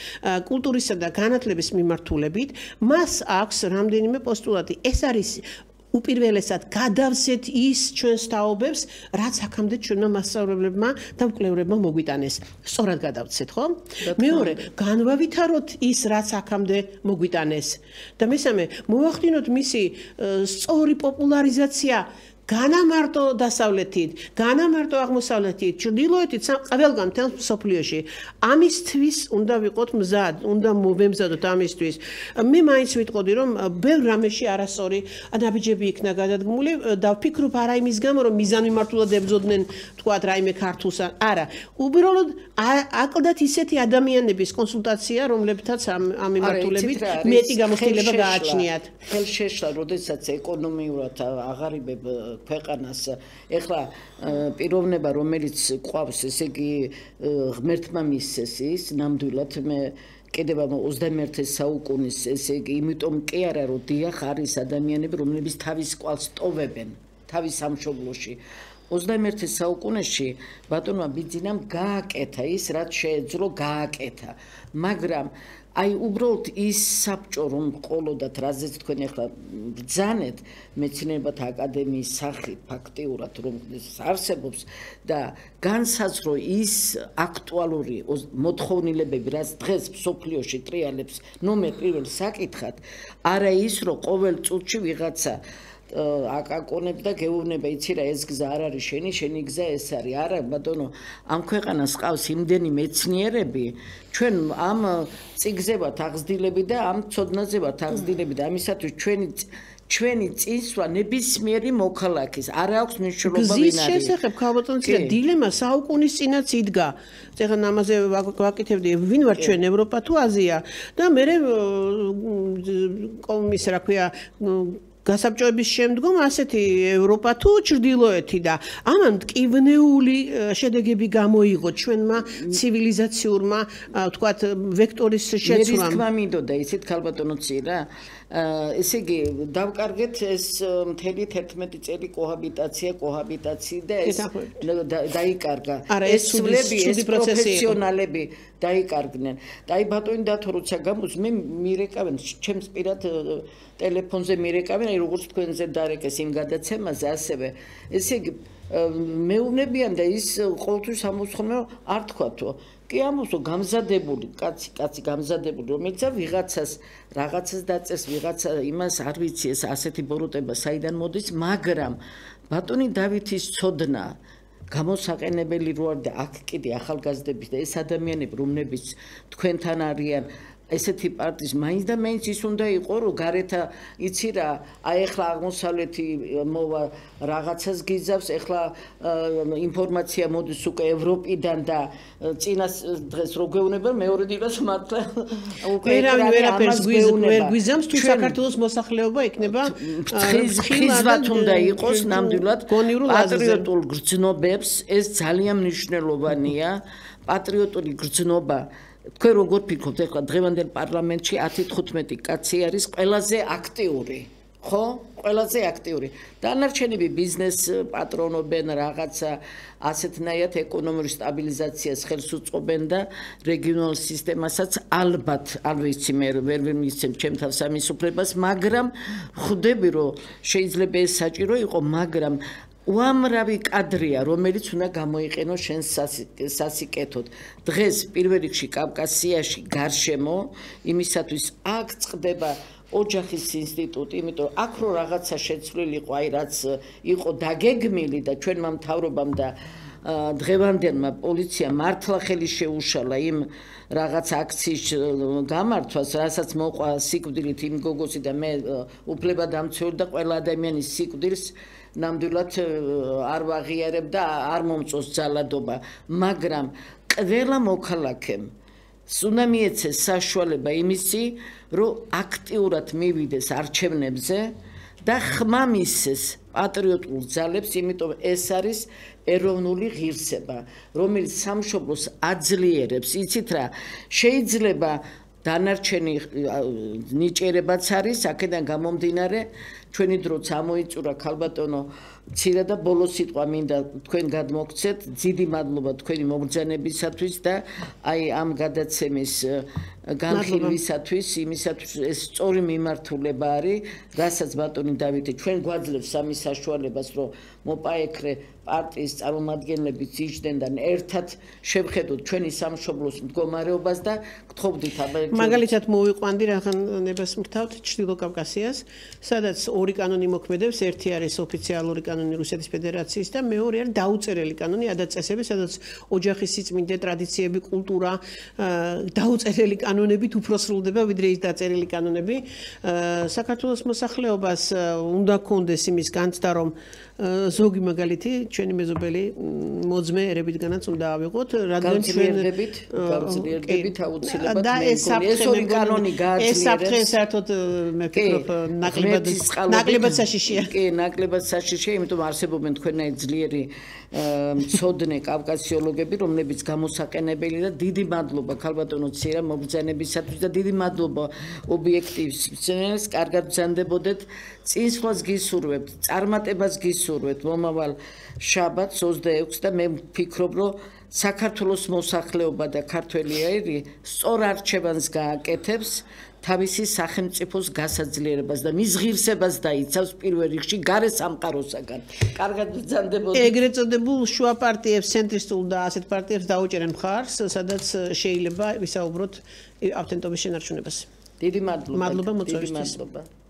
კულტურისა და განათლების მიმართულებით, მას აქვს რამდენიმე პოსტულატი. ეს არის უპირველესად გადავსეთ ის ჩვენს თაობებს, რაც აქამდე ჩვენმა მასწავლებლებმა და მკვლევრებმა მოგვიტანეს. სწორად გადავცეთ, ხო? მეორე, განვავითაროთ ის, რაც აქამდე მოგვიტანეს. და მესამე, მოვახდინოთ მისი სწორი პოპულარიზაცია განამარტო დასავლეთით, განამარტო აღმოსავლეთით, ჩრდილოეთით, ყველგან მთელ მსოფლიოში. ამისთვის უნდა ვიყოთ მზად, უნდა მოვემზადოთ ამისთვის. მე მაინც ვიტყოდი, რომ ბევრ რამეში არასწორი ნაბიჯები იქნა გადადგმული და ვფიქრობ არა იმის გამო, რომ მიზანმიმართულად ებრძოდნენ, თქვათ, რაიმე ქართულს, არა. უბრალოდ აკლდათ ისეთი ადამიანების კონსულტაცია, რომლებთაც ამ მიმართულებით მეტი გამოცდილება გააჩნიათ. ხელშეშლა, როდესაც ეკონომიურად აღარიბებ ქვეყანას ეხლა პიროვნება რომელიც ყავს ესე იგი ღმერთმა მისცეს ის ნამდვილად მე კიდევ 21 საუკუნის ესე იგი იმიტომ კი არა რომ დიახ არის ადამიანები რომლებიც თავის კვალს ტოვებენ თავის სამშობლოში 21 საუკუნეში ბატონმა ბიძინამ გააკეთა ის რაც შეეძლო გააკეთა მაგრამ აი უბრალოდ ის საბჭო რომ ყოლოდათ რაზეც თქვენ ახლა ბრძანეთ მეცნიერებათა აკადემიის სახით ფაქტიურად რომ არსებობს და განსაზღვრო ის აქტუალური მოთხოვნილებები რაც დღეს მსოფლიოში ტრიალებს ნომერ პირველ საკითხად არა ის რომ ყოველ წუთში ვიღაცა აკაკონებ და გეუბნება იცი რა ეს გზა არ არის შენი გზა ეს არის არა ბატონო ამ ქვეყანას ყავს იმდენი მეცნიერები ჩვენ ამ წიგზე ვართ აღზრდილები და ამ ცოდნაზე ვართ აღზრდილები და ამისათვის ჩვენი წინსვლა ნებისმიერი მოქალაქის არ აქვს მნიშვნელობა ვინ არის გზის შესახებ ქალბატონო დილემა საუკუნის წინაც იდგა ეხლა ამაზე ვაკეთებდი ვინ ვარ ჩვენ ევროპა თუ აზია და მე კომის რა ქვია გასაბჭოების შემდგომ ასეთი ევროპა თუ ჩრდილოეთი და ამან მტკივნეული შედეგები გამოიღო ჩვენმა ცივილიზაციურმა თქვათ ვექტორის შეცვლამ. მე თქმა მინდოდა ისეთ ქალბატონო ცირა ესე იგი დავკარგეთ ეს მთელი 11 წელი კოჰაბიტაცია და ეს დაიკარგა ეს სულები ეს პროფესიონალები დაიკარგნენ და აი ბატონი დათო როცა გამოდის მე მირეკავენ ჩემს პირად ტელეფონზე მირეკავენ აი როგორც თქვენზე დარეკეს იმ გადაცემაზე ასევე ესე იგი მეუბნებიან და ის ყოველთვის ამოცხონა არ თქვათო კი ამოსო გამზადებული კაცი გამზადებული რომელიც რაღაცას დაწეს ვიღაცა იმას არ ვიცი ეს ასეთი ბოროტება საიდან მოდის მაგრამ ბატონი დავითის ცოდნა გამოსაყენებელი რო არ და აქ კიდე ახალგაზრდების და ეს ადამიანები რომლებიც თქვენთან არიან ესეთი პარტიის მაინც და მაინც ის უნდა იყო რომ გარეთა იცი რა აი ახლა აღმოსავლეთი მოვა რაღაცას გიზავს ახლა ინფორმაცია მოდის უკვე ევროპიდან და წინას დღეს რო გვეუბნება მეორე დილას მართლა უკვე ვერაფერს გვიზამს თუ საქართველოს მოსახლეობა იქნება ხიზვათ უნდა იყოს ნამდვილად პატრიოტულ გრძნობებს ეს ძალიან მნიშვნელოვანია პატრიოტული გრძნობა თქვენ როგორ ფიქრობთ ახლა დღევანდელ პარლამენტში 10-15 კაცი არის ყველაზე აქტიური ხო ყველაზე აქტიური დანარჩენები ბიზნეს პატრონობენ რაღაცა ასეთნაირად ეკონომიკური სტაბილიზაციას ხელს უწყობენ და რეგიონულ სისტემასაც ალბათ არ ვიცი მე ვერ მისცემ ჩემ თავს ამის უფლებას მაგრამ ხვდები რომ შეიძლება ეს საჭირო იყო მაგრამ უამრავი კადრია, რომელიც უნდა გამოიყენოს შენ სასიკეთოდ. დღეს პირველ რიგში კავკასიაში გარშემო იმისათვის აქ წყდება ოჯახის ინსტიტუტი, იმიტომ აქ რო რაღაცა შეცვლილიყო, აი რაც იყო დაგეგმილი და ჩვენმა მთავრობამ და დღევანდელმა პოლიციამ მართლა ხელი შეუშალა იმ რაღაც აქციის გამართვას, რასაც მოყვა სიკვდილით იმ გოგოსი და მე უფლებადამცველი და ყველა ადამიანის სიკვდილს ნამდვილად არ ვაღიარებ და არ მომწონს ძალადობა, მაგრამ ყველა მოქალაქემ უნდა მიეცეს საშუალება იმისი, რომ აქტიურად მივიდეს არჩევნებზე და ხმა მისცეს პატრიოტულ ძალებს, იმიტომ ეს არის ეროვნული ღირსება, რომელიც სამშობლოს აძლიერებს. იცით რა, შეიძლება დანარჩენი ნიჭიერებაც არის, აქედან გამომდინარე, ჩვენი დროც ამოიწურა ქალბატონო მცირე და ბოლო სიტყვა მინდა თქვენ გადმოგცეთ, დიდი მადლობა თქვენი მობრძანებისათვის და აი ამ გადაცემის განხილვისათვის, იმისათვის ეს სწორი მიმართულება არის, რასაც ბატონი დავითი ჩვენ გვაძლევს ამის საშუალებას, რომ მოპაექრე პარტიის წარმომადგენლები იჯდნენ და ერთად შევხედოთ ჩვენი სამშობლოს მდგომარეობას და გთხოვდით მაგალითად მოვიყვანდი რაღაც ნებას მრთავთ ჩრდილო კავკასიას, სადაც ორი კანონი მოქმედებს, ერთი არის ოფიციალური კანონი რუსეთის ფედერაციის და მეორე არის დაუწერელი კანონი ადაწესები, სადაც ოჯახის სიწმინდე, ტრადიციები, კულტურა, დაუწერელი კანონებით უფრო სრულდება ვიდრე ის დაწერილი კანონები. საქართველოს მოსახლეობას უნდა კონდეს იმის განცდა, რომ ზოგი მაგალითი ჩვენი მეზობელი მოძმე ერებითგანაც უნდა ავიღოთ, რადგან ჩვენ გავძლიერდებით აუცილებლად და ეს ორი კანონი გააძლიერებს. ეს საფრთხე საერთოდ მე ვფიქრობ ნაკლებად საშიშია. კი, ნაკლებად საშიშია, იმიტომ არსებობენ თქვენაირ ძლიერი მცოდნე კავკასიოლოგები, რომლებიც გამოსაყენებელი და დიდი მადლობა ქალბატონო ცირა მობრძანებისათვის და დიდი მადლობა ობიექტივს, კარგად ბრძანდებოდეთ, წინსვლას გისურვებთ, წარმატებას გისურვებთ მომავალ შაბათს 26 და მე ვფიქრობ, რომ საქართველოს მოსახლეობა და ქართველი ერი სწორ არჩევანს გააკეთებს თავისი სახელმწიფოს გასაძლიერებას და მის ღირსებას დაიცავს პირველ რიგში გარე სამყაროსაგან. კარგად ბრძანდებოდეთ. ეგრეთ წოდებულ შუა პარტიებს, ცენტრისტულ და ასეთ პარტიებს დაუჭერენ მხარს, სადაც შეიძლება ვისაუბროთ ავთენტობის შენარჩუნებას. დიდი მადლობა. მადლობა მოწვევისთვის. მადლობა.